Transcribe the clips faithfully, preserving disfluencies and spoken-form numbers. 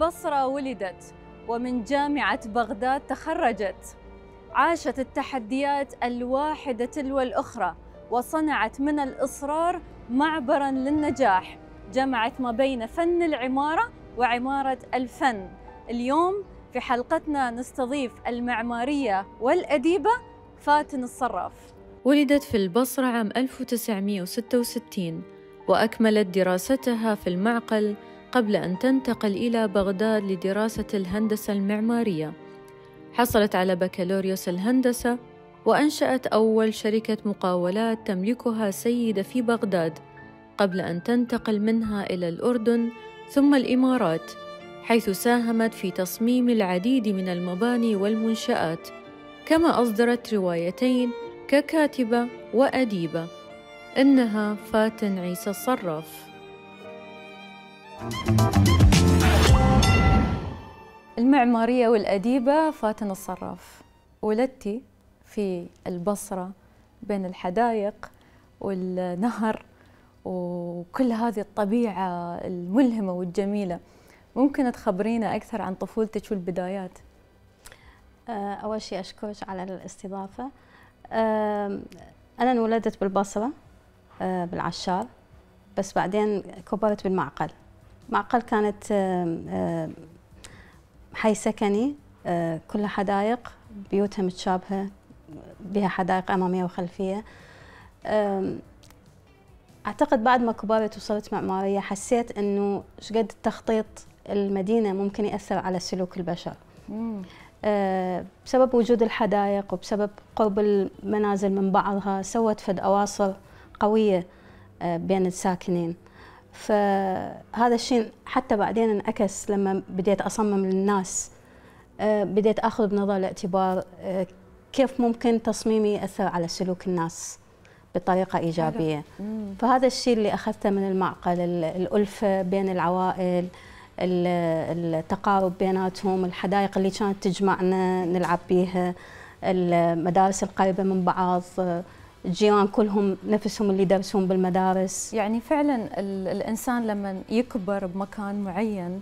البصرة ولدت ومن جامعة بغداد تخرجت، عاشت التحديات الواحدة تلو الأخرى وصنعت من الإصرار معبراً للنجاح، جمعت ما بين فن العمارة وعمارة الفن. اليوم في حلقتنا نستضيف المعمارية والأديبة فاتن الصراف. ولدت في البصرة عام ألف وتسعمئة وستة وستين وأكملت دراستها في المعقل قبل أن تنتقل إلى بغداد لدراسة الهندسة المعمارية. حصلت على بكالوريوس الهندسة وأنشأت أول شركة مقاولات تملكها سيدة في بغداد قبل أن تنتقل منها إلى الأردن ثم الإمارات، حيث ساهمت في تصميم العديد من المباني والمنشآت، كما أصدرت روايتين ككاتبة وأديبة. إنها فاتن عيسى الصراف. المعمارية والأديبة فاتن الصراف، ولدتي في البصرة بين الحدائق والنهر وكل هذه الطبيعة الملهمة والجميلة. ممكن تخبرينا أكثر عن طفولتك والبدايات؟ أول شيء أشكرك على الاستضافة. أنا انولدت بالبصرة بالعشار، بس بعدين كبرت بالمعقل. معقل كانت حي سكني كلها حدائق، بيوتها متشابهة، بها حدائق أمامية وخلفية. أعتقد بعد ما كبرت وصرت معمارية حسيت إنه شقد التخطيط المدينة ممكن يأثر على سلوك البشر. مم. بسبب وجود الحدائق وبسبب قرب المنازل من بعضها سوت فد أواصر قوية بين الساكنين. فهذا الشيء حتى بعدين انعكس لما بديت أصمم للناس، بديت أخذ بنظر الاعتبار كيف ممكن تصميمي يأثر على سلوك الناس بطريقة إيجابية. فهذا الشيء اللي أخذته من المعقل، الألفة بين العوائل، التقارب بيناتهم، الحدائق اللي كانت تجمعنا نلعب بيها، المدارس القريبة من بعض، الجيران كلهم نفسهم اللي يدرسون بالمدارس. يعني فعلا الإنسان لما يكبر بمكان معين،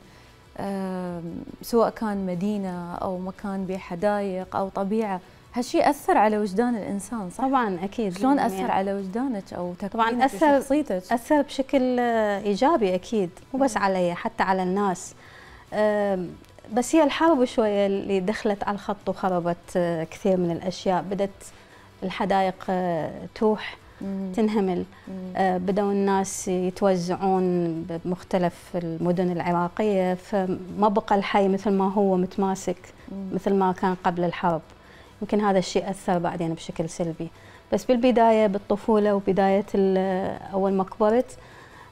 سواء كان مدينة أو مكان بحدائق أو طبيعة، هالشيء أثر على وجدان الإنسان، صح؟ طبعا أكيد. شلون أثر يعني على وجدانك أو تكوينك أثر وشخصيتك؟ أثر بشكل إيجابي أكيد، مو بس علي حتى على الناس. بس هي الحرب شوية اللي دخلت على الخط وخربت كثير من الأشياء. بدت الحدائق تروح تنهمل، بدأوا الناس يتوزعون بمختلف المدن العراقية، فما بقى الحي مثل ما هو متماسك مثل ما كان قبل الحرب. يمكن هذا الشيء أثر بعدين بشكل سلبي. بس بالبداية بالطفولة وبداية أول ما كبرت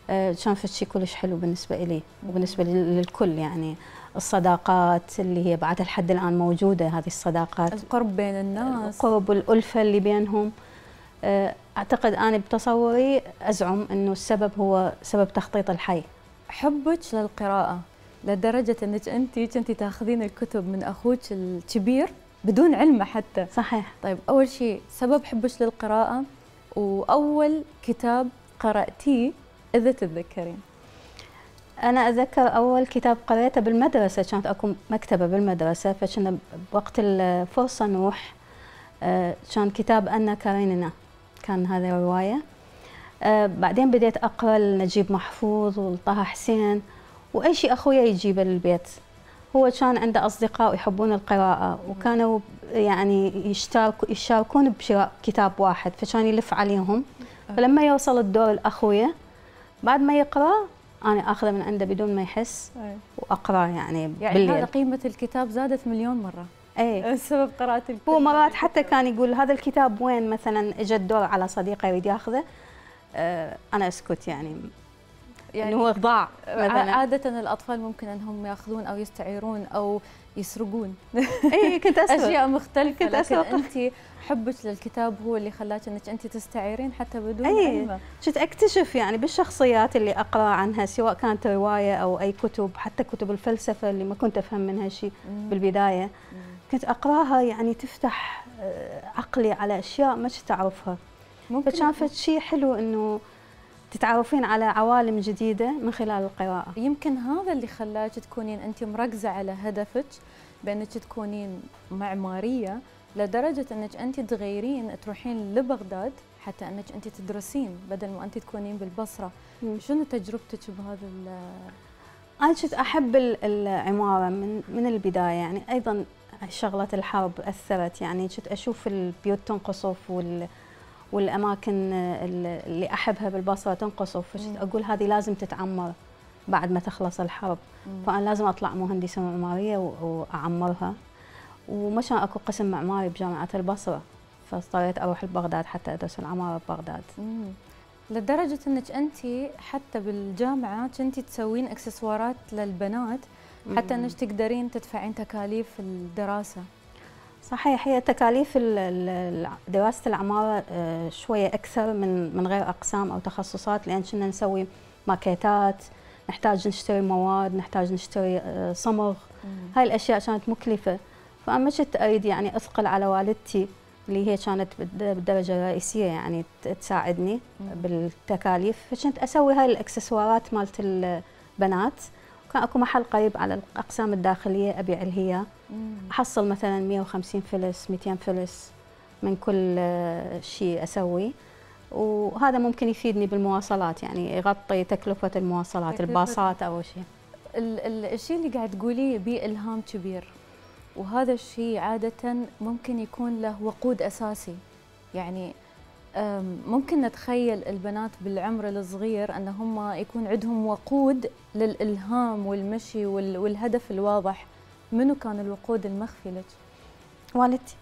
كان في شيء كلش حلو بالنسبة إلي وبالنسبة للكل. يعني الصداقات اللي هي بعد لحد الآن موجودة، هذه الصداقات، القرب بين الناس، القرب والألفة اللي بينهم. أعتقد أنا بتصوري أزعم أنه السبب هو سبب تخطيط الحي. حبك للقراءة لدرجة أنك أنت كنتي تاخذين الكتب من أخوك الكبير بدون علمه حتى. صحيح. طيب أول شيء سبب حبك للقراءة وأول كتاب قرأتيه إذا تتذكرين؟ أنا أتذكر أول كتاب قرأته بالمدرسة، كانت أكو مكتبة بالمدرسة، فكنا بوقت الفرصة نروح. كان كتاب أنا كارينينا، كان هذا رواية. بعدين بديت أقرأ لنجيب محفوظ وطه حسين وأي شيء أخويا يجيبه للبيت. هو كان عنده أصدقاء يحبون القراءة وكانوا يعني يشترك يشاركون بشراء كتاب واحد، فكان يلف عليهم. فلما يوصل الدور الأخوية بعد ما يقرأ أنا أخذه من عنده بدون ما يحس وأقرأ يعني, يعني بالليل. هذا قيمة الكتاب زادت مليون مرة. ايه بسبب قراءة الكتاب. هو مرات حتى كان يقول هذا الكتاب وين، مثلا اجى الدور على صديقه يريد ياخذه، آه انا اسكت يعني يعني هو ضاع مثلا. عادة الأطفال ممكن أنهم ياخذون أو يستعيرون أو يسرقون. اي كنت اسرق أشياء مختلفة، كنت لكن أنت حبك للكتاب هو اللي خلاك أنك أنت تستعيرين حتى بدون علم. كنت أكتشف يعني بالشخصيات اللي أقرأ عنها، سواء كانت رواية أو أي كتب، حتى كتب الفلسفة اللي ما كنت أفهم منها شيء بالبداية، كنت أقرأها يعني تفتح عقلي على أشياء ما كنت أعرفها. فكان فد شيء حلو إنه تتعرفين على عوالم جديدة من خلال القراءة. يمكن هذا اللي خلاك تكونين أنت مركزة على هدفك بأنك تكونين معمارية، لدرجة أنك أنت تغيرين تروحين لبغداد حتى أنك أنت تدرسين بدل ما أنت تكونين بالبصرة. مم. شنو تجربتك بهذا ال أنا كنت أحب العمارة من من البداية، يعني أيضا شغلة الحرب أثرت، يعني كنت أشوف البيوت تنقصف وال والأماكن اللي أحبها بالبصرة تنقصف، فكنت أقول هذه لازم تتعمر بعد ما تخلص الحرب. مم. فأنا لازم أطلع مهندسة معمارية وأعمرها، وما كان أكو قسم معماري بجامعة البصرة، فاضطريت أروح لبغداد حتى أدرس العمارة ببغداد. مم. لدرجة أنك أنت حتى بالجامعة كنتِ تسوين إكسسوارات للبنات حتى أنك تقدرين تدفعين تكاليف الدراسة. صحيح، هي تكاليف دراسة العمارة شوية أكثر من من غير أقسام أو تخصصات، لأن كنا نسوي ماكيتات، نحتاج نشتري مواد، نحتاج نشتري صمغ. مم. هاي الأشياء كانت مكلفة، فأنا ما كنت أريد يعني أثقل على والدتي اللي هي كانت بالدرجة الرئيسية يعني تساعدني بالتكاليف، فكنت أسوي هاي الإكسسوارات مالت البنات. كان أكو محل قريب على الأقسام الداخلية أبيع الهيا، أحصل مثلا مئة وخمسين فلس مئتين فلس من كل شيء أسوي، وهذا ممكن يفيدني بالمواصلات، يعني يغطي تكلفة المواصلات، الباصات أو شيء. الشيء اللي قاعد تقوليه بيه إلهام كبير، وهذا الشيء عادة ممكن يكون له وقود أساسي. يعني ممكن نتخيل البنات بالعمر الصغير أن هم يكون عندهم وقود للإلهام والمشي والهدف الواضح. منو كان الوقود المخفي لك؟ والدتي.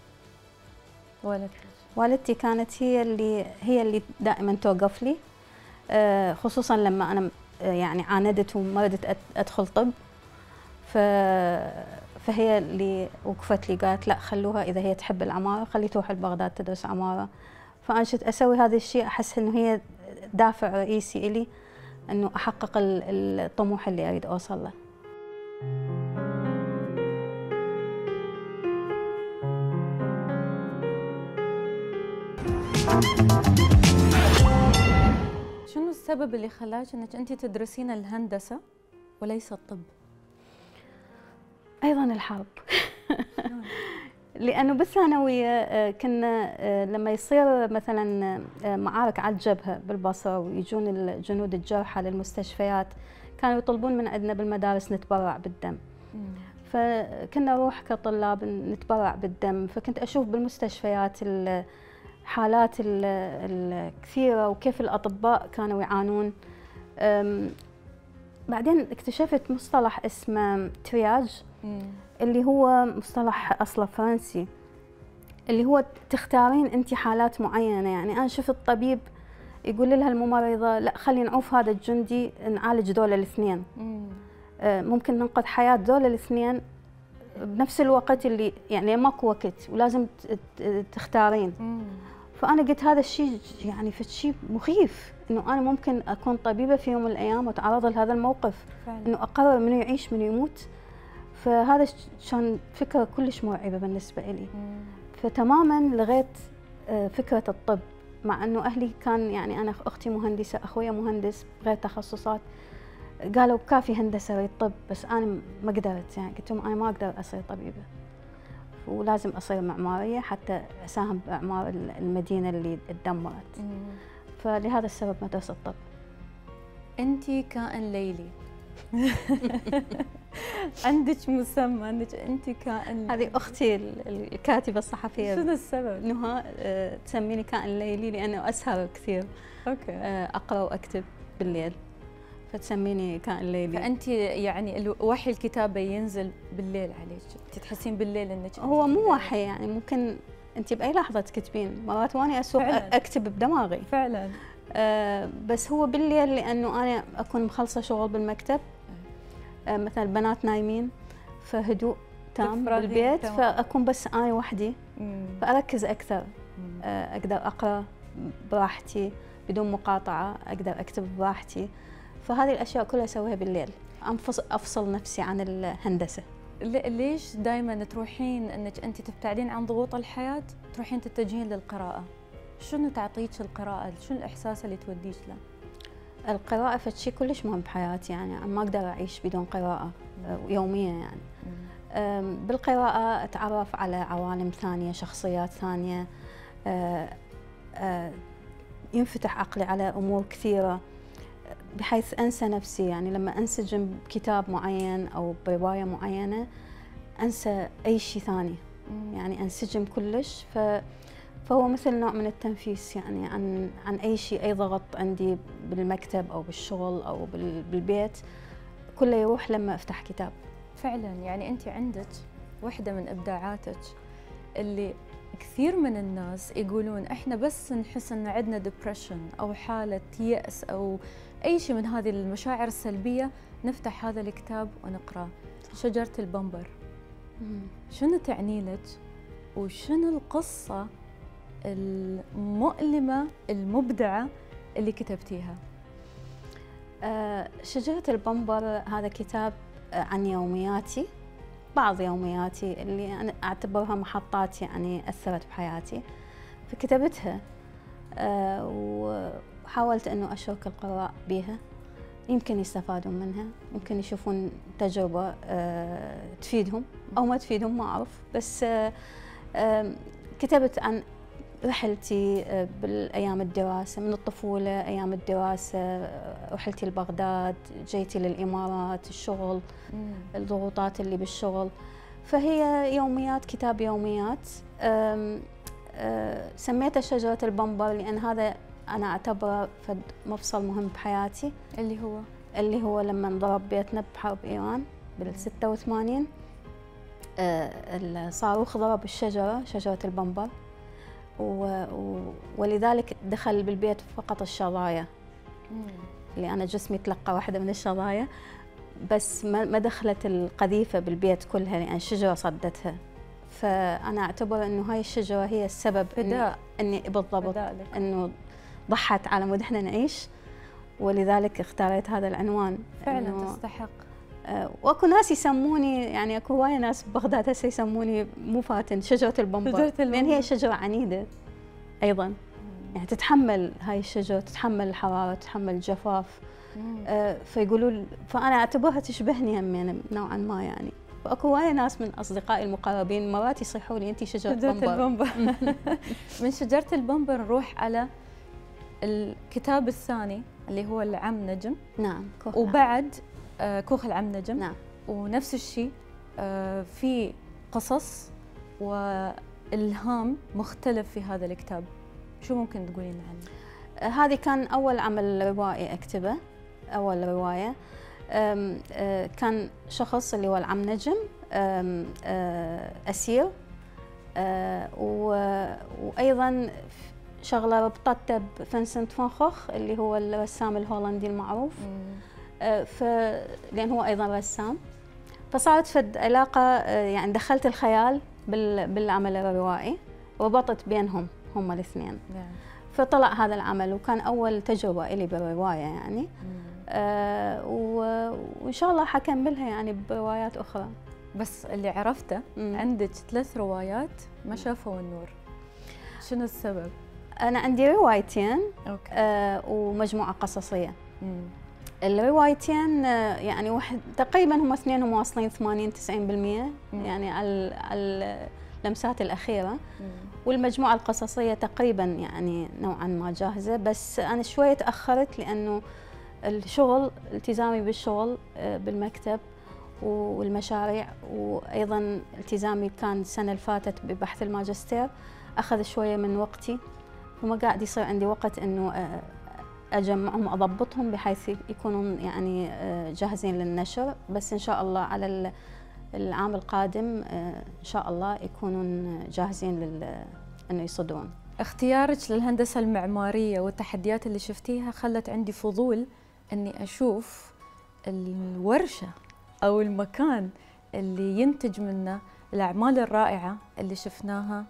والدتك والدتي كانت هي اللي هي اللي دائما توقف لي، خصوصا لما أنا يعني عاندت وما ردت أدخل طب، ف فهي اللي وقفت لي، قالت لا خلوها إذا هي تحب العمارة خلي تروح لبغداد تدرس عمارة. فأنا كنت أسوي هذا الشيء، أحس إنه هي دافع رئيسي إلي إنه أحقق الطموح اللي أريد أوصل له. شنو السبب اللي خلاك إنك أنت تدرسين الهندسة وليس الطب؟ أيضاً الحرب. لأنه بالثانوية كنا لما يصير مثلاً معارك على الجبهة بالبصرة ويجون الجنود الجرحى للمستشفيات، كانوا يطلبون من عندنا بالمدارس نتبرع بالدم. فكنا نروح كطلاب نتبرع بالدم، فكنت أشوف بالمستشفيات الحالات الكثيرة وكيف الأطباء كانوا يعانون. بعدين اكتشفت مصطلح اسمه ترياج، اللي هو مصطلح أصله فرنسي، اللي هو تختارين أنت حالات معينة. يعني أنا شفت طبيب يقول لها الممرضة لا خلي نعوف هذا الجندي نعالج دول الاثنين، ممكن ننقذ حياة دول الاثنين بنفس الوقت، اللي يعني ماكو وقت ولازم تختارين. فأنا قلت هذا الشيء يعني في شيء مخيف، إنه أنا ممكن أكون طبيبة في يوم من الأيام وأتعرض لهذا الموقف، فعلا. إنه أقرر منو يعيش منو يموت. فهذا كان فكرة كلش مرعبة بالنسبة لي. مم. فتماماً لغيت فكرة الطب، مع إنه أهلي كان يعني أنا أختي مهندسة، أخويا مهندس غير تخصصات، قالوا كافي هندسة طب، بس أنا ما قدرت. يعني قلت لهم أنا ما أقدر أصير طبيبة، ولازم أصير معمارية حتى أساهم بإعمار المدينة اللي اتدمرت. مم. فلهذا السبب مدرسة الطب. أنتِ كائن ليلي. عندك مسمى انك انت كائن. هذه اختي الكاتبه الصحفيه. شنو السبب؟ نهى تسميني كائن ليلي لانه اسهر كثير. اوكي. اقرا واكتب بالليل، فتسميني كائن ليلي. فانت يعني وحي الكتابه ينزل بالليل عليك، تحسين بالليل انك هو مو وحي، يعني ممكن انت باي لحظه تكتبين، مرات واني اسوق فعلاً. اكتب بدماغي فعلا. آه بس هو بالليل لانه انا اكون مخلصه شغل بالمكتب، آه مثلا البنات نايمين، فهدوء تام بالبيت، تمام. فاكون بس انا وحدي، مم. فاركز اكثر، آه اقدر اقرا براحتي بدون مقاطعه، اقدر اكتب براحتي. فهذه الاشياء كلها اسويها بالليل، انفصل افصل نفسي عن الهندسه. ليش دائما تروحين انك انت تبتعدين عن ضغوط الحياه تروحين تتجهين للقراءه؟ شنو تعطيك القراءه؟ شنو الاحساس اللي توديك له؟ القراءة فشي كلش مهم بحياتي، يعني أنا ما أقدر أعيش بدون قراءة يوميا يعني. بالقراءة أتعرف على عوالم ثانية، شخصيات ثانية، ينفتح عقلي على أمور كثيرة بحيث أنسى نفسي. يعني لما أنسجم بكتاب معين أو برواية معينة أنسى أي شيء ثاني، يعني أنسجم كلش. ف فهو مثل نوع من التنفيس يعني عن عن أي شيء، أي ضغط عندي بالمكتب أو بالشغل أو بالبيت كله يروح لما أفتح كتاب. فعلا يعني أنت عندك واحدة من إبداعاتك اللي كثير من الناس يقولون إحنا بس نحس إن عندنا ديبريشن أو حالة يأس أو أي شيء من هذه المشاعر السلبية نفتح هذا الكتاب ونقرأ. شجرة البمبر شنو تعني لك وشنو القصة المؤلمة المبدعة اللي كتبتيها؟ آه شجرة البمبر هذا كتاب عن يومياتي، بعض يومياتي اللي أنا أعتبرها محطات يعني أثرت بحياتي، فكتبتها آه وحاولت أنه أشارك القراء بها، يمكن يستفادون منها، ممكن يشوفون تجربة آه تفيدهم أو ما تفيدهم ما أعرف. بس آه آه كتبت عن رحلتي بالأيام الدراسة، من الطفولة، أيام الدراسة، رحلتي لبغداد، جيتي للإمارات، الشغل، مم. الضغوطات اللي بالشغل. فهي يوميات، كتاب يوميات. أم أم سميته شجرة البمبر لأن هذا أنا أعتبره فد مفصل مهم بحياتي، اللي هو اللي هو لما انضرب بيتنا بحرب إيران بالستة وثمانين. الصاروخ ضرب الشجرة، شجرة البمبر، و... ولذلك دخل بالبيت فقط الشظايا، اللي أنا جسمي تلقى واحدة من الشظايا، بس ما دخلت القذيفة بالبيت كلها لأن الشجرة صدتها. فأنا أعتبر أنه هاي الشجرة هي السبب فداء، أني بالضبط أنه ضحت على مود إحنا نعيش، ولذلك اختاريت هذا العنوان. فعلا تستحق. واكو ناس يسموني، يعني اكو هوايه ناس ببغداد هسه يسموني مو فاتن شجره البمبر، لان هي شجره عنيده ايضا، مم. يعني تتحمل هاي الشجره، تتحمل الحراره، تتحمل الجفاف. آه فيقولوا، فانا اعتبرها تشبهني هم نوعا ما يعني. واكو هوايه ناس من اصدقائي المقربين مرات يصيحوا لي انت شجره, شجرة البمبر. من شجره البمبر نروح على الكتاب الثاني اللي هو العم نجم. نعم. وبعد آه كوخ العم نجم. نعم. ونفس الشيء آه في قصص والهام مختلف في هذا الكتاب، شو ممكن تقولين عنه؟ آه هذه كان اول عمل روائي اكتبه، اول روايه. آم آه كان شخص اللي هو العم نجم آم آه اسير، آه وايضا شغله ربطته بفنسنت فان خوخ اللي هو الرسام الهولندي المعروف. آه ف لان هو ايضا رسام، فصارت فد علاقه، آه يعني دخلت الخيال بالعمل الروائي وربطت بينهم هم الاثنين. فطلع هذا العمل، وكان اول تجربه لي بالروايه يعني. آه وان شاء الله حكملها يعني بروايات اخرى. بس اللي عرفته مم. عندك ثلاث روايات ما شافوا النور، شنو السبب؟ أنا عندي روايتين. أوكي. آه ومجموعة قصصية. مم. الروايتين آه يعني واحد تقريبا هم اثنين واصلين ثمانين تسعين بالمئة يعني على على اللمسات الأخيرة. مم. والمجموعة القصصية تقريبا يعني نوعا ما جاهزة، بس أنا شوية تأخرت لأنه الشغل، التزامي بالشغل آه بالمكتب والمشاريع، وأيضا التزامي كان السنة اللي فاتت ببحث الماجستير أخذ شوية من وقتي، وما قاعد يصير عندي وقت إنه أجمعهم وأضبطهم بحيث يكونون يعني جاهزين للنشر. بس إن شاء الله على العام القادم إن شاء الله يكونون جاهزين لل إنه يصدرون. اختيارك للهندسة المعمارية والتحديات اللي شفتيها خلت عندي فضول إني أشوف الورشة أو المكان اللي ينتج منه الأعمال الرائعة اللي شفناها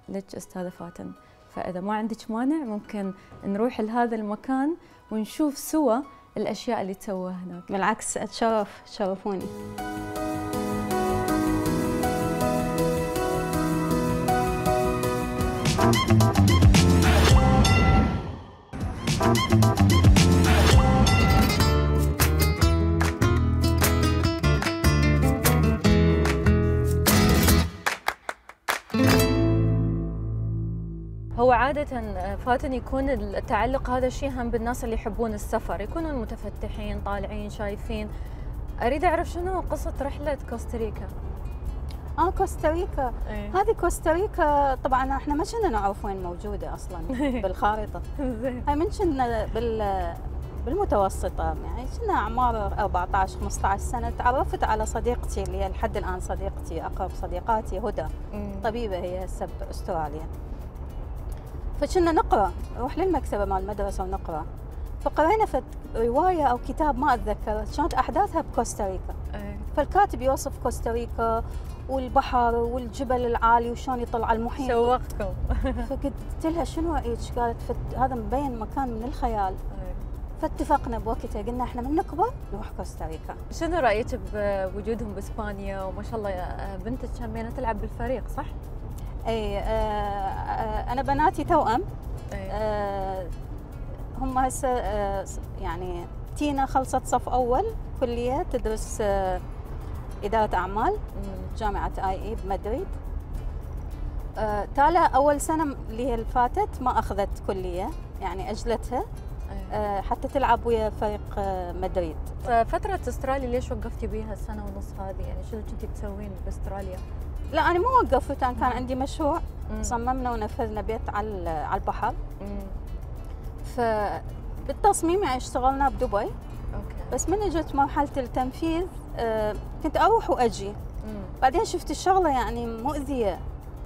لك أستاذة فاتن. فإذا ما عندك مانع ممكن نروح لهذا المكان ونشوف سوا الأشياء اللي تسووها هناك. بالعكس أتشرف، تشرفوني. Thank you. هو عادة فاتن يكون التعلق هذا الشيء هم بالناس اللي يحبون السفر، يكونون متفتحين طالعين شايفين. أريد أعرف شنو قصة رحلة كوستاريكا؟ اه كوستاريكا ايه؟ هذه كوستاريكا طبعا احنا ما كنا نعرف وين موجودة اصلا بالخارطة. هاي من كنا بال بالمتوسطة، يعني كنا أعمار أربعطعش خمسطعش سنة. تعرفت على صديقتي اللي هي لحد الآن صديقتي، أقرب صديقاتي، هدى، طبيبة هي هسه بأستراليا. فكنا نقرأ، نروح للمكتبة مال المدرسة ونقرأ، فقرينا في رواية أو كتاب ما أتذكر كانت أحداثها بكوستاريكا. فالكاتب يوصف كوستاريكا والبحر والجبل العالي وشلون يطلع على المحيط. شوقتكم. فقلت لها شنو رأيك؟ قالت هذا مبين مكان من الخيال. فاتفقنا بوقتها، قلنا احنا من نكبر نروح كوستاريكا. شنو رايك بوجودهم باسبانيا؟ وما شاء الله بنتك كمينة تلعب بالفريق صح؟ اي آه آه انا بناتي توأم. آه هم هسه آه يعني تينا خلصت صف اول كليه تدرس آه اداره اعمال جامعه اي اي بمدريد. آه تالا اول سنه اللي هي اللي فاتت ما اخذت كليه، يعني اجلتها أه حتى تلعب ويا فريق مدريد. فترة استراليا ليش وقفتي بيها السنة ونص هذه؟ يعني شنو كنتي تسوين باستراليا؟ لا أنا ما وقفت، أنا كان عندي مشروع مم. صممنا ونفذنا بيت على على البحر. فبالتصميم يعني اشتغلنا بدبي. أوكي. بس من اجت مرحلة التنفيذ أه كنت أروح وأجي. مم. بعدين شفت الشغلة يعني مؤذية.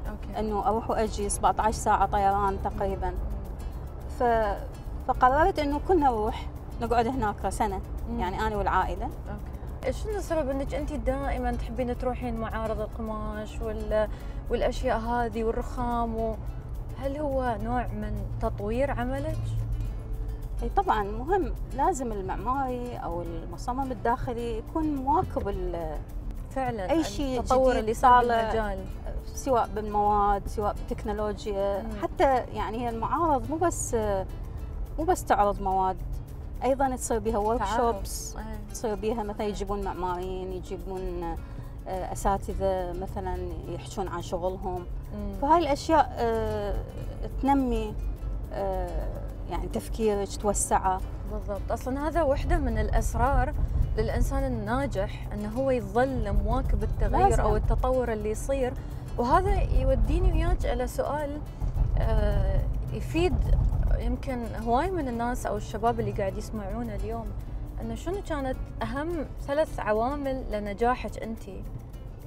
أوكي. إنه أروح وأجي سبعطعش ساعة طيران تقريبا. ف فقررت انه كلنا نروح نقعد هناك سنه. مم. يعني انا والعائله. اوكي. شنو السبب انك انت دائما تحبين تروحين معارض القماش وال... والاشياء هذه والرخام و... هل هو نوع من تطوير عملك؟ اي طبعا مهم، لازم المعماري او المصمم الداخلي يكون مواكب فعلا اي شيء التطور اللي صار بالمجال، سواء بالمواد سواء بالتكنولوجيا. مم. حتى يعني هي المعارض مو بس مو بس تعرض مواد، ايضا تصير بها ورك شوبس، تصير بها مثلا يجيبون معماريين، يجيبون اساتذه مثلا يحكون عن شغلهم. مم. فهاي الاشياء تنمي يعني تفكيرك، توسعه. بالضبط. اصلا هذا وحده من الاسرار للانسان الناجح، انه هو يظل مواكب التغير لازم. او التطور اللي يصير. وهذا يوديني وياك الى سؤال يفيد يمكن هواي من الناس او الشباب اللي قاعد يسمعونا اليوم، انه شنو كانت اهم ثلاث عوامل لنجاحك انت؟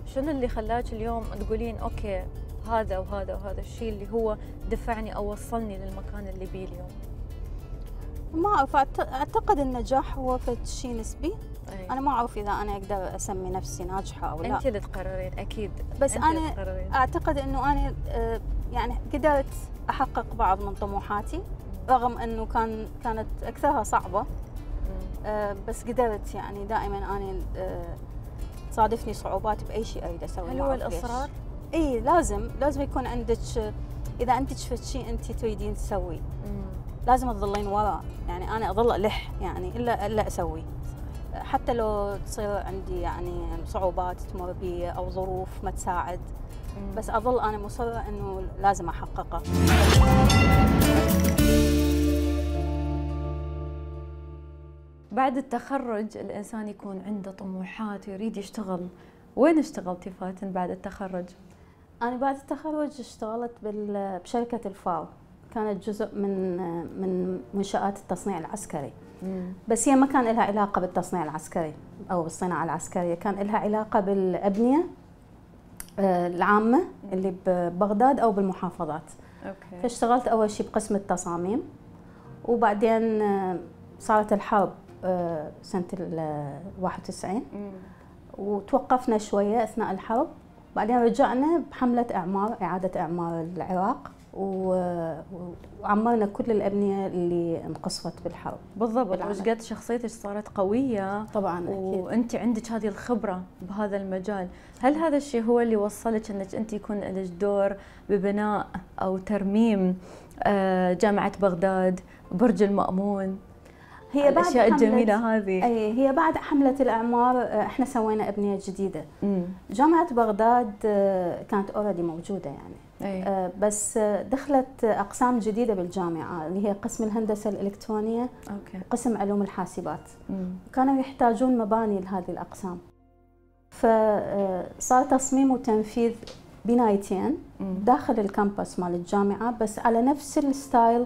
شنو اللي خلاك اليوم تقولين اوكي هذا وهذا وهذا الشيء اللي هو دفعني او وصلني للمكان اللي بيه اليوم؟ ما اعرف، اعتقد النجاح هو شيء نسبي. أي. انا ما اعرف اذا انا اقدر اسمي نفسي ناجحه او لا. انت اللي تقررين اكيد. بس انا اعتقد انه انا يعني قدرت احقق بعض من طموحاتي رغم انه كان كانت اكثرها صعبه. أه بس قدرت، يعني دائما انا أه تصادفني صعوبات باي شيء اريد اسويه. هل هو الاصرار؟ اي لازم لازم يكون عندك، اذا انت شفت شيء انت تريدين تسويه لازم تظلين وراء. يعني انا اظل الح يعني الا الا اسوي، حتى لو تصير عندي يعني صعوبات تمر بي او ظروف ما تساعد. مم. بس اظل انا مصره انه لازم احققه. بعد التخرج الانسان يكون عنده طموحات ويريد يشتغل. وين اشتغلتي فاتن بعد التخرج؟ انا بعد التخرج اشتغلت بشركه الفاو، كانت جزء من من منشآت التصنيع العسكري. مم. بس هي ما كان لها علاقه بالتصنيع العسكري او بالصناعه العسكريه، كان لها علاقه بالابنيه العامه اللي ببغداد او بالمحافظات. أوكي. فاشتغلت اول شيء بقسم التصاميم، وبعدين صارت الحرب سنه واحد وتسعين. مم. وتوقفنا شويه اثناء الحرب، بعدين رجعنا بحمله اعمار اعاده اعمار العراق، وعمرنا كل الابنيه اللي انقصفت بالحرب. بالضبط. وش قد شخصيتك صارت قويه طبعا اكيد، وانت عندك هذه الخبره بهذا المجال. هل هذا الشيء هو اللي وصلك انك انت يكون لك دور ببناء او ترميم جامعه بغداد، برج المأمون، هي بعد الاشياء الجميله هذه؟ اي هي بعد حمله الاعمار احنا سوينا ابنيه جديده. مم. جامعه بغداد كانت اوريدي موجوده يعني. آه بس دخلت أقسام جديدة بالجامعة اللي هي قسم الهندسة الإلكترونية أوكي. وقسم علوم الحاسبات. مم. كانوا يحتاجون مباني لهذه الأقسام، فصار تصميم وتنفيذ بنايتين داخل الكامبس مال الجامعة بس على نفس الستايل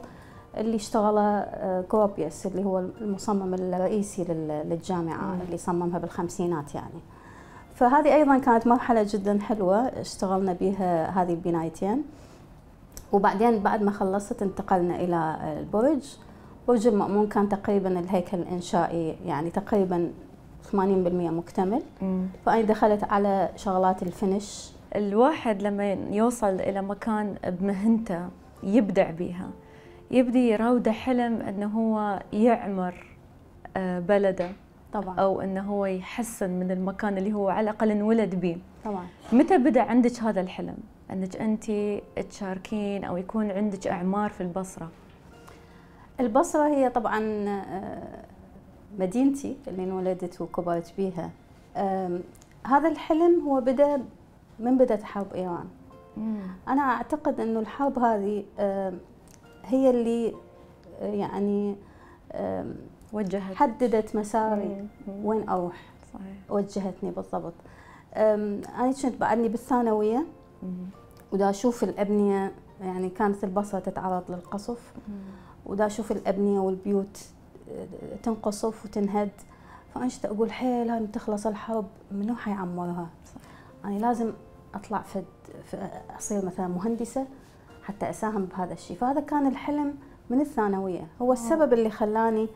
اللي اشتغله كروبيوس اللي هو المصمم الرئيسي للجامعة مم. اللي صممها بالخمسينات يعني. فهذه أيضا كانت مرحلة جدا حلوة اشتغلنا بها هذه البنايتين. وبعدين بعد ما خلصت انتقلنا إلى البرج. برج المأمون كان تقريبا الهيكل الإنشائي يعني تقريبا ثمانين بالمئة مكتمل. مم. فأنا دخلت على شغلات الفينش. الواحد لما يوصل إلى مكان بمهنته يبدع بيها، يبدي يراوده حلم أنه هو يعمر بلده طبعا، أو أنه هو يحسن من المكان اللي هو على الأقل انولد به. طبعا. متى بدأ عندك هذا الحلم أنك أنت تشاركين أو يكون عندك أعمار في البصرة؟ البصرة هي طبعا مدينتي اللي انولدت وكبرت بيها. هذا الحلم هو بدأ من بدأت حرب إيران. مم. أنا أعتقد أنه الحرب هذه هي اللي يعني وجهت حددت مساري. مم. وين أروح. صحيح. وجهتني بالضبط. أنا كنت بعدني بالثانوية ودا أشوف الأبنية، يعني كانت البصرة تتعرض للقصف. مم. ودا أشوف الأبنية والبيوت تنقصف وتنهد، فأنا أقول حيل هاي تخلص الحرب منو حيعمرها؟ أنا يعني لازم أطلع في أصير مثلا مهندسة حتى أساهم بهذا الشيء. فهذا كان الحلم من الثانوية، هو السبب اللي خلاني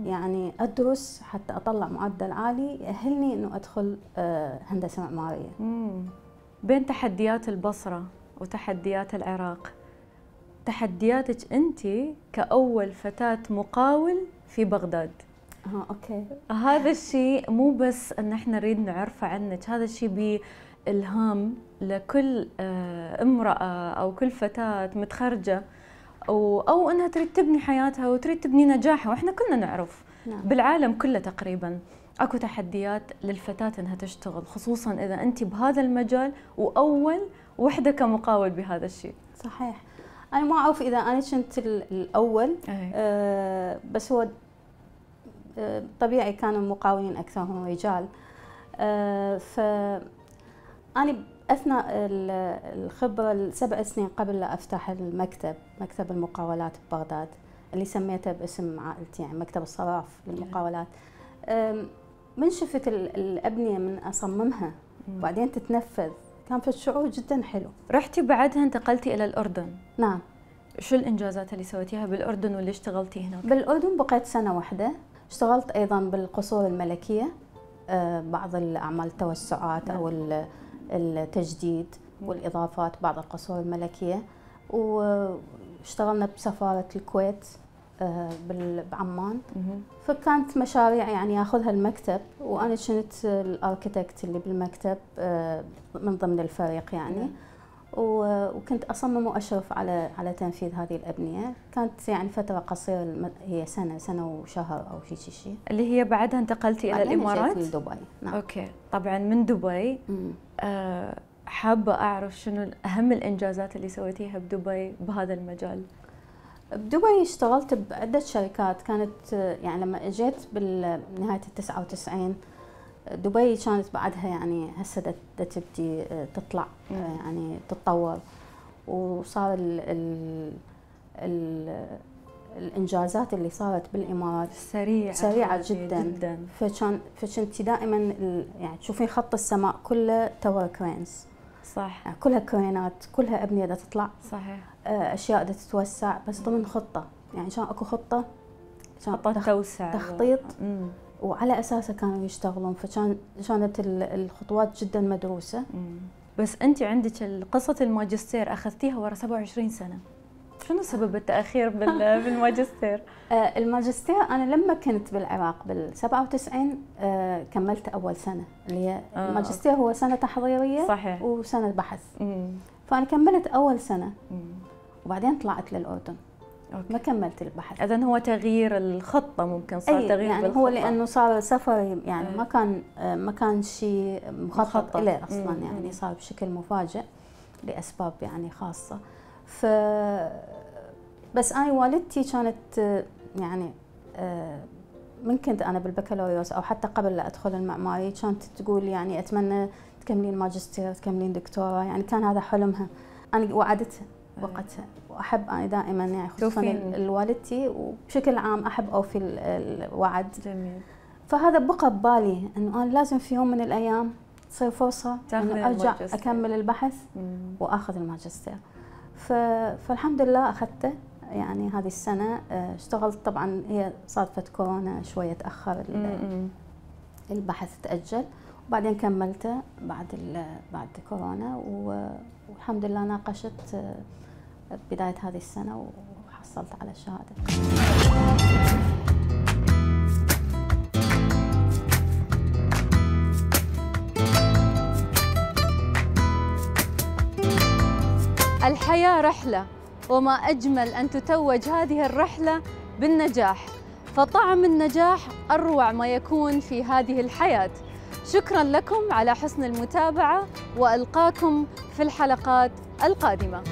يعني أدرس حتى أطلع معدل عالي يأهلني إنه أدخل هندسة معمارية. بين تحديات البصرة وتحديات العراق، تحدياتك أنت كأول فتاة مقاول في بغداد. اه اوكي. هذا الشيء مو بس ان احنا نريد نعرفه عنك، هذا الشيء بإلهام لكل امرأة او كل فتاة متخرجة او او انها تريد تبني حياتها وتريد تبني نجاحها، واحنا كلنا نعرف. نعم. بالعالم كله تقريبا اكو تحديات للفتاة انها تشتغل، خصوصا اذا انت بهذا المجال واول وحدة كمقاول بهذا الشيء. صحيح. انا ما اعرف اذا انا كنت الاول. آه بس هو طبيعي كانوا المقاولين أكثرهم رجال. أه فأنا أثناء الخبرة السبع سنين قبل لا أفتح المكتب، مكتب المقاولات ببغداد اللي سميته باسم عائلتي يعني مكتب الصراف للمقاولات. من شفت الأبنية من أصممها وبعدين تتنفذ كان في شعور جدا حلو. رحتي بعدها انتقلتي إلى الأردن. نعم. شو الإنجازات اللي سويتيها بالأردن واللي اشتغلتي هناك؟ بالأردن بقيت سنة واحدة. اشتغلت أيضا بالقصور الملكية، بعض الأعمال التوسعات أو التجديد والإضافات بعض القصور الملكية. واشتغلنا بسفارة الكويت بعمان. فكانت مشاريع يعني ياخذها المكتب وأنا كنت الأركيتكت اللي بالمكتب من ضمن الفريق يعني. وكنت أصمم وأشرف على على تنفيذ هذه الأبنية. كانت يعني فترة قصيرة، هي سنة سنة وشهر أو شيء شيء. اللي هي بعدها انتقلتي إلى الإمارات؟ جيت لدبي. نعم. أوكي. طبعا من دبي آه حابة أعرف شنو أهم الإنجازات اللي سويتيها بدبي بهذا المجال؟ بدبي اشتغلت بعدة شركات. كانت يعني لما اجيت بنهاية التسعة وتسعين دبي كانت بعدها يعني هسه تبدي تطلع يعني تتطور، وصار ال ال ال الانجازات اللي صارت بالامارات سريعه سريعه جدا, جداً. فكان فكنتي دائما يعني تشوفين خط السماء كله تاور كرينز. صح. يعني كلها كرينات، كلها ابنيه بدها تطلع. صحيح. اشياء بدها تتوسع بس ضمن خطه، يعني كان اكو خطه خطه توسع تخطيط و... وعلى اساسه كانوا يشتغلون، فكان كانت الخطوات جدا مدروسه. مم. بس انت عندك قصه الماجستير اخذتيها ورا سبعة وعشرين سنه، شنو سبب التاخير بالماجستير؟ الماجستير انا لما كنت بالعراق بال سبعة وتسعين كملت اول سنه، اللي هي آه. الماجستير هو سنه تحضيريه. صحيح. وسنه بحث. مم. فانا كملت اول سنه. مم. وبعدين طلعت للاردن. أوكي. ما كملت البحث. اذا هو تغيير الخطه، ممكن صار أي تغيير يعني بالخطة. هو لانه صار سفري يعني أي. ما كان ما كان شيء مخطط له اصلا. مم. يعني صار بشكل مفاجئ. لأسباب يعني خاصة. ف بس أنا والدتي كانت يعني من كنت أنا بالبكالوريوس أو حتى قبل لا أدخل المعماري كانت تقول يعني أتمنى تكملين ماجستير تكملين دكتوراه، يعني كان هذا حلمها. أنا وعدتها وقتها، وأحب أنا دائما يعني خصوصا الوالدتي وبشكل عام أحب أوفي الوعد. جميل. فهذا بقى ببالي إنه أنا لازم في يوم من الأيام تصير فرصة إنه أرجع الماجستير. أكمل البحث مم. وآخذ الماجستير. فالحمد لله أخذته يعني هذه السنة. اشتغلت طبعا، هي صادفت كورونا شوية تأخر البحث تأجل، وبعدين كملته بعد بعد كورونا، والحمد لله ناقشت بداية هذه السنة وحصلت على الشهادة. الحياة رحلة، وما أجمل أن تتوج هذه الرحلة بالنجاح، فطعم النجاح أروع ما يكون في هذه الحياة. شكراً لكم على حسن المتابعة، وألقاكم في الحلقات القادمة.